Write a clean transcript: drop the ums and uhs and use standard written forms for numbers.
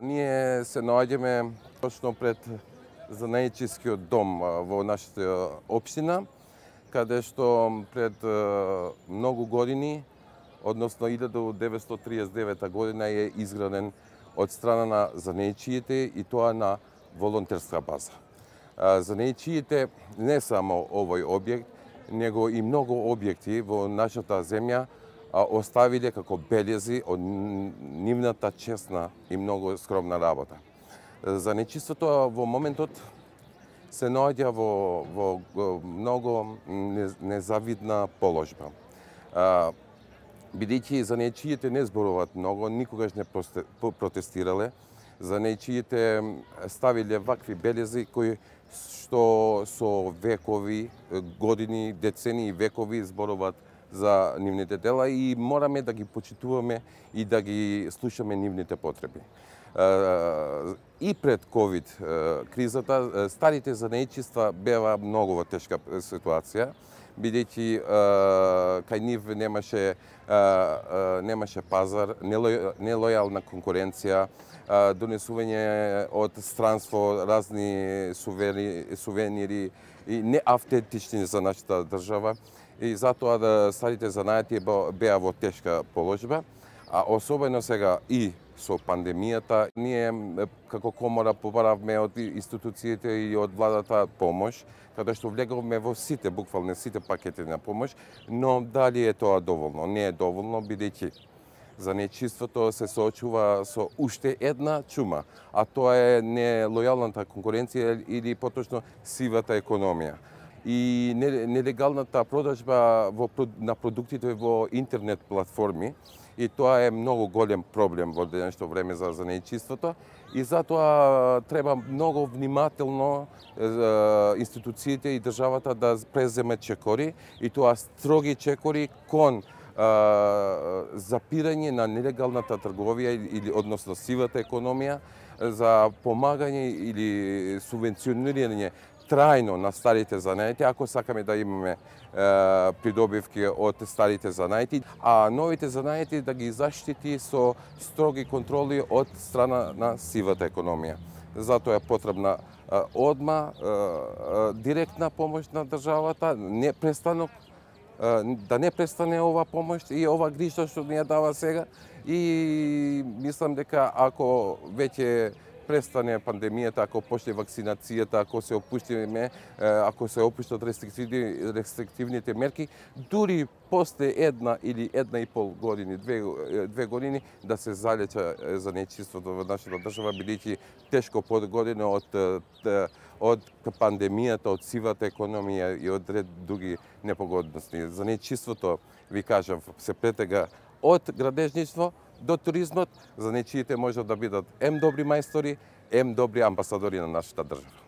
Ние се наоѓаме точно пред занаечискиот дом во нашата општина, каде што пред многу години, односно 1939 година е изграден од страна на занаечиите и тоа на волонтерска база. Занаечиите не само овој објект, него и многу објекти во нашата земја оставиле како белези од нивната честна и многу скромна работа. Занаечиството во моментот се наоѓа во многу незавидна положба. Бидејќи занаечиите не зборуваат многу, никогаш не протестирале, занаечиите ставиле вакви белези кои што со векови, години, децени и векови зборуваат за нивните дела и мораме да ги почитуваме и да ги слушаме нивните потреби. И пред ковид кризата старите занаечиства беа многу во тешка ситуација, бидејќи кај нив немаше пазар, нелојална конкуренција, донесување од странство разни сувенири и неавтентични за нашата држава. И затоа старите занаети беа во тешка положба, а особено сега и со пандемијата, ние како комора побаравме од институциите и од владата помош, каде што влеговме во сите, буквално сите пакети на помош, но дали е тоа доволно? Не е доволно, бидејќи занаечиството се соочува со уште една чума, а тоа е нелојалната конкуренција или поточно сивата економија. И нелегалната продажба на продуктите во интернет платформи, и тоа е многу голем проблем во денешно време за занаечиството, и затоа треба многу внимателно институциите и државата да преземе чекори, и тоа строги чекори кон запирање на нелегалната трговија или односно сивата економија, за помагање или субвенционирање трајно на старите занаети, ако сакаме да имаме придобивки од старите занаети, а новите занаети да ги заштити со строги контроли од страна на сивата економија. Затоа е потребна одма директна помош на државата, да не престане ова помош и ова грижа што ни ја дава сега, и мислам дека ако веќе престане пандемијата, ако почне вакцинацијата, ако се опуштат рестриктивните мерки, дури после една или една и пол години, две години, да се залеча занаечиството во нашата држава, бидејќи тешко погодено од пандемијата, од сивата економија и од ред други непогодности. Занаечиството, ви кажав, се претега од градежништво до туризмот. Занаечиите можат да бидат ем добри мајстори, ем добри амбасадори на нашата држава.